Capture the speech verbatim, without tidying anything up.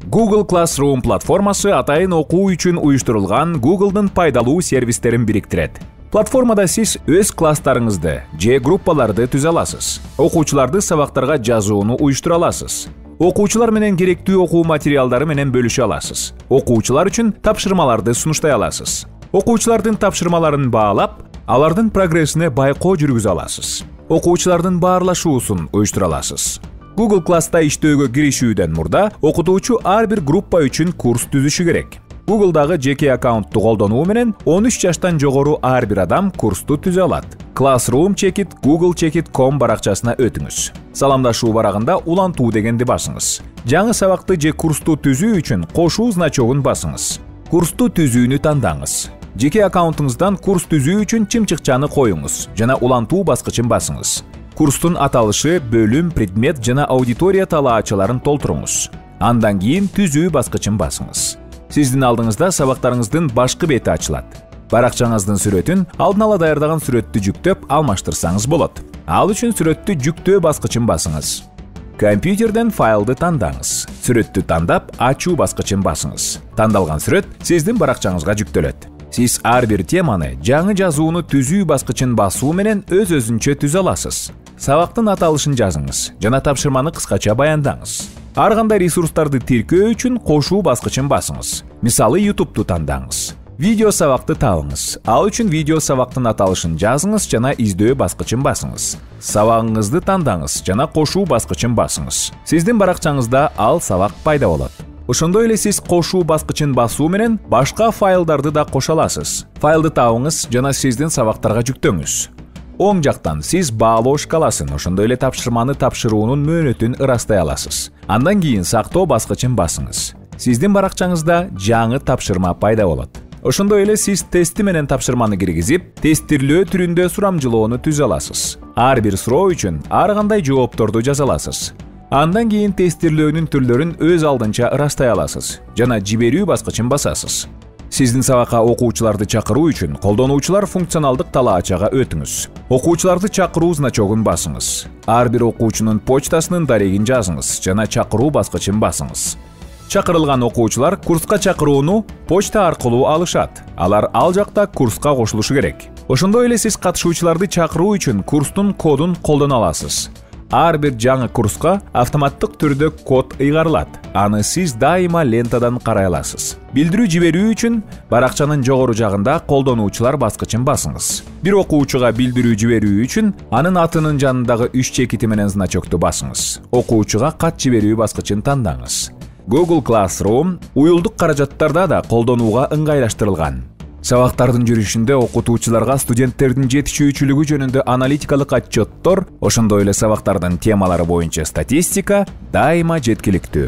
Google Classroom платформасы атайын окуу үчүн уюштурулган Google'дын пайдалуу сервистерин бириктирет. Платформада сиз өз класстарыңызды же группаларды түзө аласыз. Окуучуларды сабактарга жазууну уюштура аласыз. Окуучулар менен керектүү окуу материалдары менен бөлүшө аласыз. Окуучулар үчүн тапшырмаларды сунуштай аласыз. Окуучулардын тапшырмаларын баалап, алардын прогрессине байкоо жүргүзө аласыз. Окуучулардын баарлашуусун уюштура аласыз. Google Class'та иштөөгө киришүүдөн мурда окутуучу ар бир группа үчүн курс түзүшү керек. Google'дагы жеке аккаунтту колдонуу менен он үч жаштан жогору ар бир адам курсту түзө алат. Classroom чекит google чекит точка com баракчасына өтүңүз. Саламдашуу барагында улантуу дегенди басыңыз. Жаңы сабакты же курсту түзүү үчүн кошуу значогун басыңыз. Курсту түзүүнү тандаңыз. Жеке аккаунтуңуздан курс түзүү үчүн чымчыкчаны коюңуз жана улантуу баскычын басыңыз. Курстун аталышы, бөлүм, предмет жана аудитория талаачыларын толтуруңуз. Андан кийин түзүү баскычын басыңыз. Сиздин алдыңызда сабактарыңыздын башкы бети ачылат. Баракчаңыздын сүрөтүн алдын ала даярдаган сүрөттү жүктөп алмаштырсаңыз болот. Ал үчүн сүрөттү жүктөө баскычын басыңыз. Компьютерден файлды тандаңыз. Сүрөттү тандап, ачуу баскычын басыңыз. Тандалган сүрөт сиздин баракчаңызга жүктөлөт. Сиз ар бир теманы, жаңы жазууну түзүү баскычын басуу менен өз-өзүнчө түзө аласыз. Сабактын аталышын жазыңыз жана тапшырманы кыскача баяндаңыз. Ар кандай ресурстарды тиркөө үчүн кошуу баскычын басыңыз. Мисалы, YouTube'ту тандаңыз. Видео сабакты табыңыз. Ал үчүн видео сабактын аталышын жазыңыз жана издөө баскычын басыңыз. Сабагыңызды тандаңыз жана кошуу баскычын басыңыз. Сиздин баракчаңызда ал сабак пайда болот. Ошондой эле сиз кошуу баскычын басуу менен башка файлдарды да кошо аласыз. Файлды табыңыз жана сиздин сабактарга жүктөңүз. Оң жактан сиз баалоо шкаласын, ошондой эле тапшырманы тапшыруунун мөөнөтүн ырастай аласыз. Андан кийин сактоо баскычын басыңыз. Сиздин баракчаңызда жаңы тапшырма пайда болот. Ошондой эле сиз тести менен тапшырманы киргизип, тестирлөө түрүндө сурамжылоону түзө аласыз. Ар бир суроо үчүн ар кандай жоопторду жаза аласыз. Андан кийин тестирлөөнүн түрлөрүн өз алдынча ырастай аласыз жана жиберүү баскычын басасыз. Сиздин сабакка окуучуларды чакыруу үчүн колдонуучулар функционалдык талаачага өтүңүз. Окуучуларды чакыруу значогун басыңыз. Ар бир окуучунун почтасынын дарегин жазыңыз жана чакыруу баскычын басыңыз. Чакырылган окуучулар курска чакырууну почта аркылуу алышат. Алар ал жакта курска кошулушу керек. Ошондой эле сиз катышуучуларды чакыруу үчүн курстун кодун колдоно аласыз. Ар бир жаңы курска автоматтык түрдө код ыйгарылат. Аны сиз дайыма лентадан карай аласыз. Билдирүү жиберүү үчүн баракчанын жогору жагында колдонуучулар баскычын басыңыз. Бир окуучуга билдирүү жиберүү үчүн анын атынын жанындагы үч чекити менен значокту басыңыз. Окуучуга кат жиберүү баскычын тандаңыз. Google Classroom уюлдук каражаттарда да колдонууга ыңгайлаштырылган. Сабактардын жүрүшүндө окутуучуларга студенттердин жетишүүчүлүгү жөнүндө аналитикалык отчеттор, ошондой эле сабактардын темалары боюнча статистика дайыма жеткиликтүү.